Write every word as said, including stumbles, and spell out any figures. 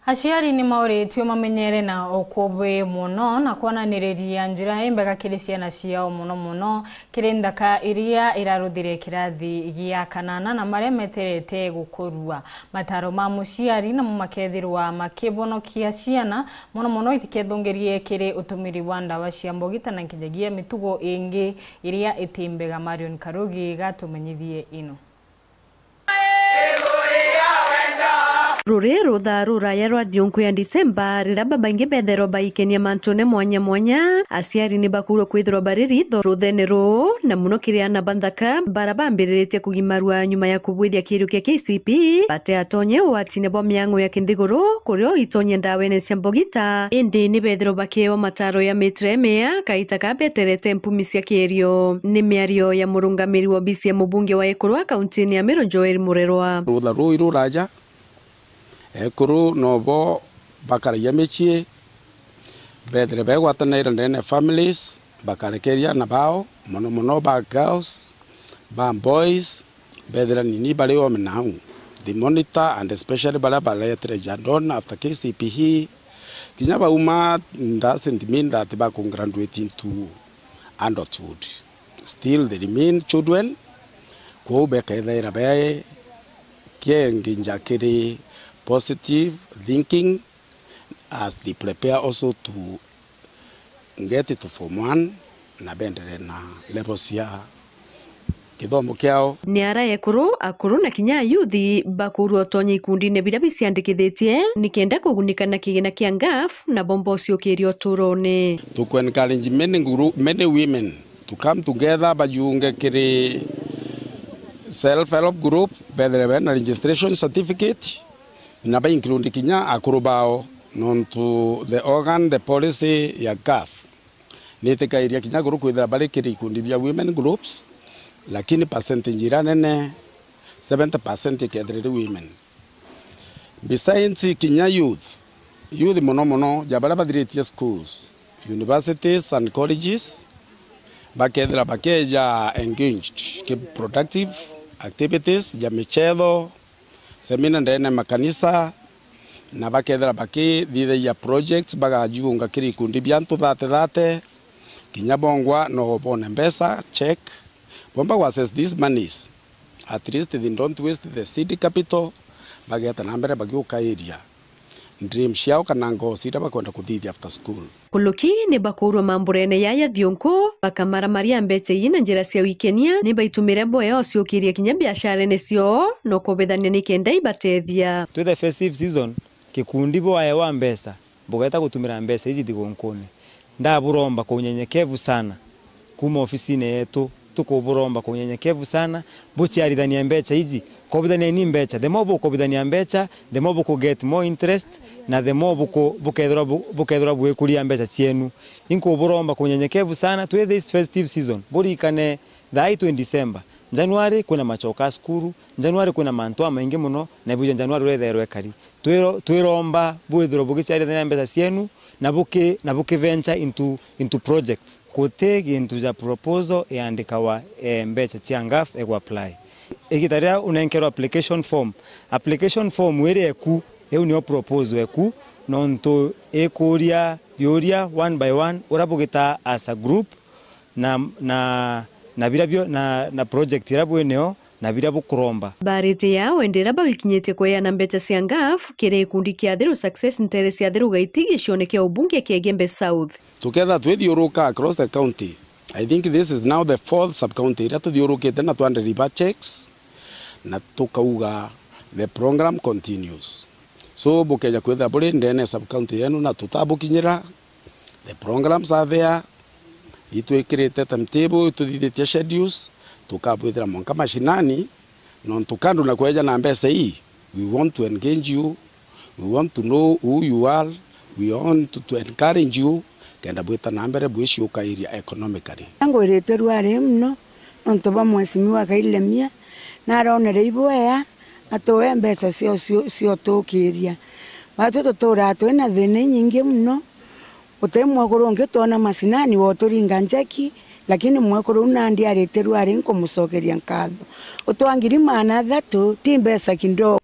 Aciari ni mauritue mamenyere na ukubi mono na kwonaniriria njira imbega kiri ciana ciao, mono mono kiri nthaka iria iraruthire kirathi gia kanana na maria meterete gukurua. Mataro ma muciari namo makethirwa makibonokia ciana, mono mono itikethungirie kiri utumiri bwa ndawa cia mbogita na nkinyagia mitugo ingi iria iti mbega. Marion Karugi gatumenyithie ino. Ruri ruthaa ruraya rwa thiunku ya Disemba, riria babaingi betherwa baikenia mantune mwanya mwanya, aciari ni bakurwa kwithirwa bari ritho ruthene ruu, na muno kiri ana ba nthaka bara bambiriritie kugimarua nyuma ya kubwithia kiirio kia K C P, bateatonye ugwatine bwa miang'o ya kinthiguru, kurio itonye ndawene cia mbogita, indi ni bethirwa bakeewa mataro ya mitire mea kaita ka beterete mpumi cia kiirio. Ni miario ya murungamiri wa obisi ya mubunge wa Ekuru a kauntini ya Meru, Joel Murerwa. Rutha ruu iruraja, ekuru nobo bakaragia micii, bethire begwatanaira ndene ya families, bakarekeria ana bao, mono mono ba girls, ba boys, bethira nini bari ome nau. They monitor and especially baria baretire Jadon after K C P E, kinya bauma doesn't mean that baku graduate into adulthood. Still they remain children, kwou bekethaira be kienginja kiri positive thinking as they prepare also to get to form one na bendere na level cia githomo kiao. Ni ara ekuru, akuru na kinya ayuthi bakurwa utonye ikundine biria biciandikithitie nikenda kugunika na kigina kia ngaf na bomba uciukiria uturone. Tuku encourage many group, many women to come together, bajiunge kiri self help group, bethire bena registration certificate, na ba include kinya akuru bao, nontu the organ, the policy ya gaf nitikairia kinya akuru kwithira bari kiri ikundi bia women groups, lakini percentage iria nene, seventy percent ikethira iri women. Besides kinya youth, youth mono mono ja baria bathiritie schools, universities and colleges, bakethira bakeja engaged ki productive activities ja michetho, semina ndene ya makanisa, na bakethira bakithithagia projects, bagajiunga kiri ikundi bia antu thate thate, kinya bongwa no bone mbeca, check, bomba gwa access these monies, at least they don't waste the seed capital, bageta na mbere bagiukairia dreams ciao kana ngoo ciria bakwenda kuthithia after school. Kuluki ni bakurwa mamburene yaya thiunku, bakamaramaria mbecha ii na njira cia wikenia, ni baitumire bwea uciukiria kinya biasharene ciao, no kubithania nikenda ibatethia. Twi the festive season, kikundi bwaewa mbeca, bugeta gutumira mbeca iji thigunkune. Ndaburomba kwa unyenyekevu sana, kuma ofisine yetu, tukuburomba kwa unyenyekevu sana, buciarithania mbecha iji, kobithanieni mbecha. The more bukobithania mbecha, the more buku get more interest, na the more buku-, bukethirwa bu-, bukethirwa bwikuria mbecha cienu. Inkuburomba kwa unyenyekevu sana, twi this festive season, burikane thaa ii twi December. January kwina machoka a cukuru, January kwina mantu amaingi muno, na ibuja January urethairwa ekari. Twiro-, twiromba bwithirwe bugiciarithania mbeca cienu na buki-, na buki venture into, into projects. Guti gintu ja proposal iandikawa, eh, mbeca cia ngaf egwa apply. Igita riria unenkerwa application form, application form iri eku, iu nio proposal eku, nontu ikuria biuria one by one, uria bugitaa as a group, na, na, na biria bio, na, na project iria bwinio, na biria bukuromba. Barite yao indi iria bawikinyitie kweana mbecha cia ngaf kiri gikundi kia Thiru Success ntere cia Thiru Gaiti gicione kia ubunge kia Igembe South. Tuketha twithiuruka across the county. I think this is now the fourth sub-county iria tuthiurukite na twandiriba checks, na tukauga the program continues. So, bukeja kwithira buri ndene ya sub-county yenu na tutabukinyira, the programs are there, itwikirite timetable, ituthithitie schedules, tukabwithira mwanka mashinani, nontu kando na kweja na mbeca ii, we want to engage you, we want to know who you are, we want to encourage you, kenda bwita na mbere bwiciukairia economically. Ngwirite ruari muno nontu bwa mheshimiwa Kailemia, naronere ibwea atuwe mbeca cio, cio, cio tukiria. Batwi tuturaa twina thina inyingi muno, guti mwekuru ungi twona mashinani wa uturinga njeki, lakini mwekuru u nandi aritirwe ari nkumucokeria nkatho. Utwa ngiri maana athatu ti mbeca kidogo.